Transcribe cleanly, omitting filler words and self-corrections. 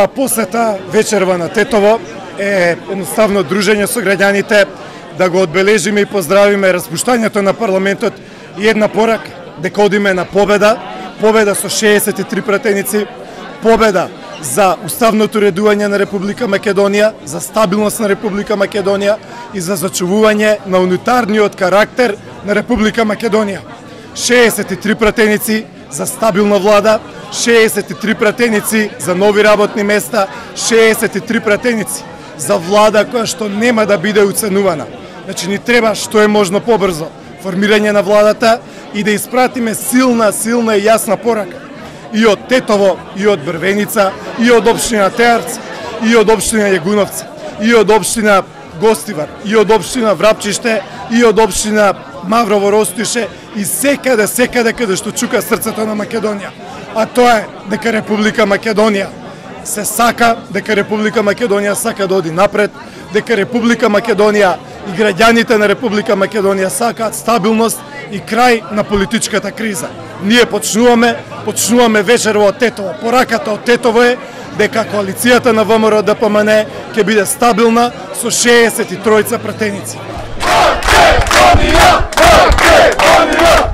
Оваа посета вечерва на Тетово е едноставно дружење со граѓаните, да го одбележиме и поздравиме распуштањето на парламентот и една порака дека одиме на победа, победа со 63 пратеници, победа за уставното редување на Република Македонија, за стабилност на Република Македонија и за зачувување на унитарниот карактер на Република Македонија. 63 пратеници за стабилна влада, 63 пратеници за нови работни места, 63 пратеници за влада која што нема да биде уценувана. Значи ни треба што е можно побрзо формирање на владата и да испратиме силна и јасна порака и од Тетово, и од Брвеница, и од општина Теарц, и од општина Јегуновци, и од општина Гостивар, и од општина Врапчиште, и од општина Маврово Ростуше и секаде каде што чука срцето на Македонија. А тоа е дека Република Македонија се сака, дека Република Македонија сака да оди напред, дека Република Македонија и граѓаните на Република Македонија сакаат стабилност и крај на политичката криза. Ние почнуваме вечерва од Тетово. Пораката од Тетово е дека коалицијата на ВМРО ДПМН ќе биде стабилна со 63 пратеници. Македонија!